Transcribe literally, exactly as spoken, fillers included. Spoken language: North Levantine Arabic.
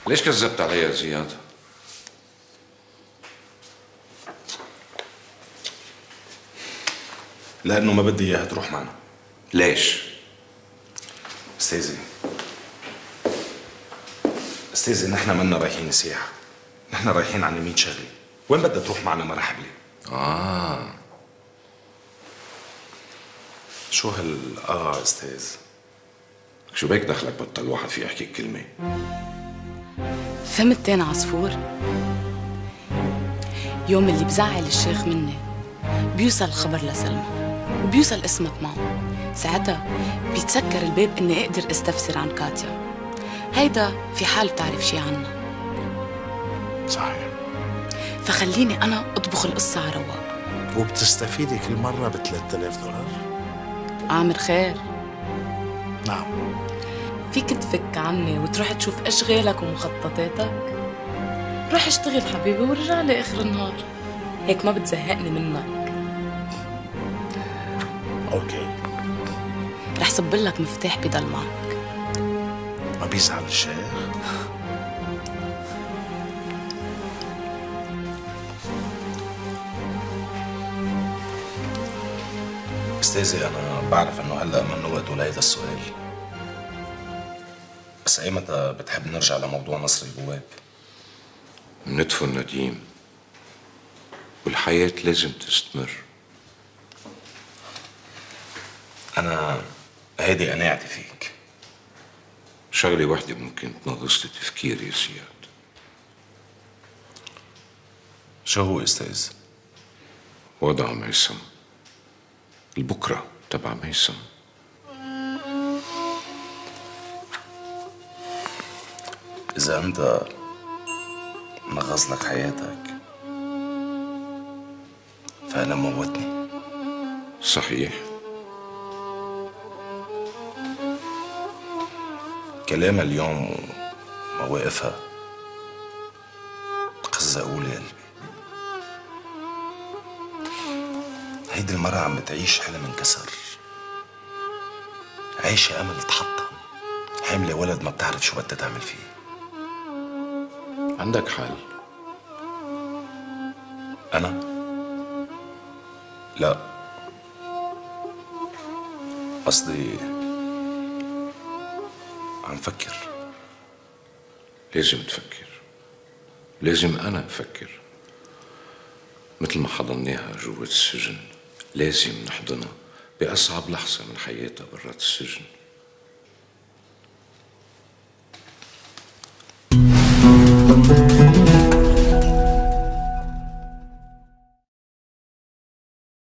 ليش كذبت علي يا زياد؟ لأنه ما بدي إياها تروح معنا. ليش؟ أستاذي أستاذي نحن منا رايحين سياحة، نحن رايحين على مية شغلة، وين بدها تروح معنا مرحب لي؟ آه شو هال آه أستاذ؟ شو بيك دخلك بطل واحد في يحكي كلمة؟ فهمت تاني عصفور؟ يوم اللي بزعل الشيخ مني بيوصل الخبر لسلمى وبيوصل اسمك معه، ساعتها بيتسكر الباب اني اقدر استفسر عن كاتيا. هيدا في حال بتعرف شي عنها. صحيح. فخليني انا اطبخ القصة على رواق. وبتستفيدي كل مرة ب ثلاثة آلاف دولار؟ عامر خير. نعم. فيك تفك عني وتروح تشوف اشغالك ومخططاتك؟ روح اشتغل حبيبي ورجع لي اخر النهار، هيك ما بتزهقني منك. اوكي. رح صب لك مفتاح بضل معك. ما بيزعل الشيخ؟ أستاذي أنا بعرف إنه هلأ منه وقته لهيدا السؤال، بس أيمتى بتحب نرجع لموضوع نصر البواب؟ ندفن نديم والحياة لازم تستمر. أنا هيدي قناعتي فيك. شغلة وحدة ممكن تنغص لي تفكيري يا زياد. شو هو أستاذ؟ وضع ميسم، البكرة تبع ميسم. إذا أنت نغص لك حياتك فأنا موتني. صحيح. كلام اليوم ومواقفها قزقوا لي قلبي. هيدي المرة عم بتعيش حلم انكسر، عايشة أمل تحطم، حاملة ولد ما بتعرف شو بدها تعمل فيه. عندك حل؟ أنا؟ لا، قصدي عم فكر. لازم تفكر، لازم أنا أفكر. مثل ما حضناها جوة السجن لازم نحضنها بأصعب لحظة من حياتها برات السجن.